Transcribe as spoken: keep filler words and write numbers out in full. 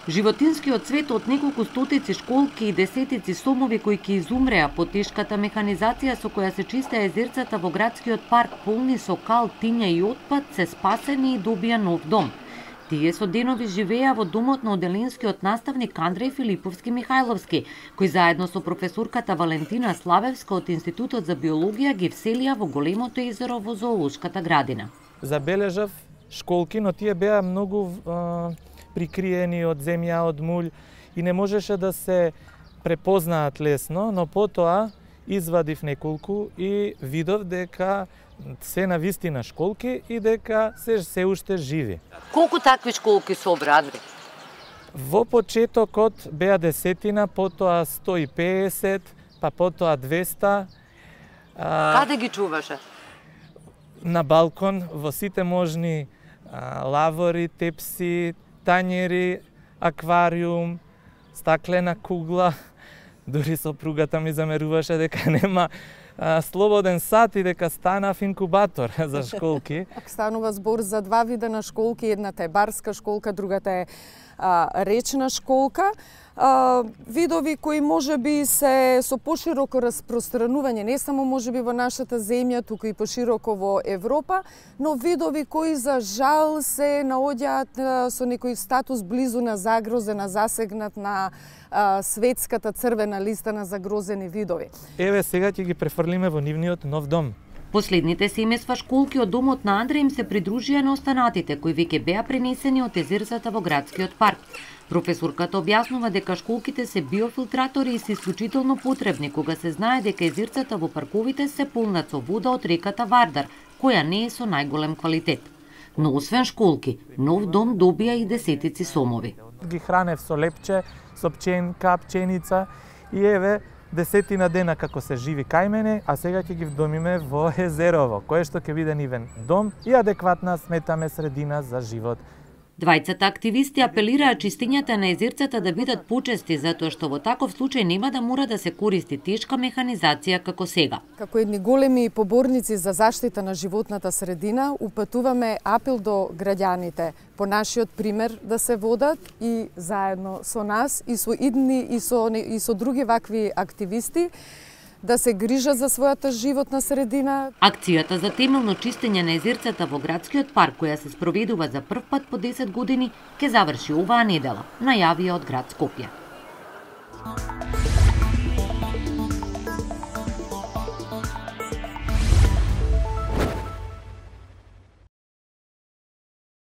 Животинскиот свет од неколку стотици школки и десетици сомови кои ќе изумреа по тешката механизација со која се чистеа езерцата во градскиот парк полни со кал, тиња и отпад, се спасени и добија нов дом. Тие со денови живеа во домот на оделенскиот наставник Андреј Филиповски Михајловски, кој заедно со професорката Валентина Славевска од Институтот за биологија ги вселија во големото езеро во зоолошката градина. Забележав школки, но тие беа многу а, прикриени од земја, од мулј и не можеше да се препознаат лесно, но потоа извадив неколку и видов дека се на вистина школки и дека се се уште живи. Колку такви школки се обрадви? Во почетокот беа десетина, потоа сто и песет, па потоа двеста. А... Каде ги чуваше? На балкон, во сите можни а, лавори, тепси, тањери, аквариум, стаклена кугла. Дури сопругата ми замеруваше дека нема а, слободен сат и дека станав инкубатор за школки. Станува збор за два вида на школки, едната е барска школка, другата е а, речна школка. А, видови кои можеби се со пошироко распространување, не само можеби во нашата земја, туку и пошироко во Европа, но видови кои за жал се наоѓаат со некој статус близу на загрозена, засегнат на а, светската црвена листа на загрозени видови. Еве сега ќе ги префрлиме во нивниот нов дом. Последните семејства школки од домот на Андреј им се придружија на останатите кои веќе беа пренесени од езерцата во градскиот парк. Професорката објаснува дека школките се биофилтратори и се исклучително потребни кога се знае дека езерцата во парковите се полнат со вода од реката Вардар, која не е со најголем квалитет. Но освен школки, нов дом добија и десетици сомови. Ги хранев со лепче, со пченка, пченица и еве десетина дена како се живи кај мене, а сега ќе ги вдомиме во езерово, кое што ќе биде нивен дом и адекватна, сметаме, средина за живот. Двајцата активисти апелираа чистењата на езерцата да бидат почести, затоа што во таков случај нема да мора да се користи тешка механизација како сега. Како едни големи поборници за заштита на животната средина, упатуваме апел до граѓаните по нашиот пример да се водат и заедно со нас и со идни и со и со други вакви активисти да се грижат за својата животна средина. Акцијата за темелно чистење на езерцата во градскиот парк, која се спроведува за прв пат по десет години, ќе заврши оваа недела, најавија од град Скопје.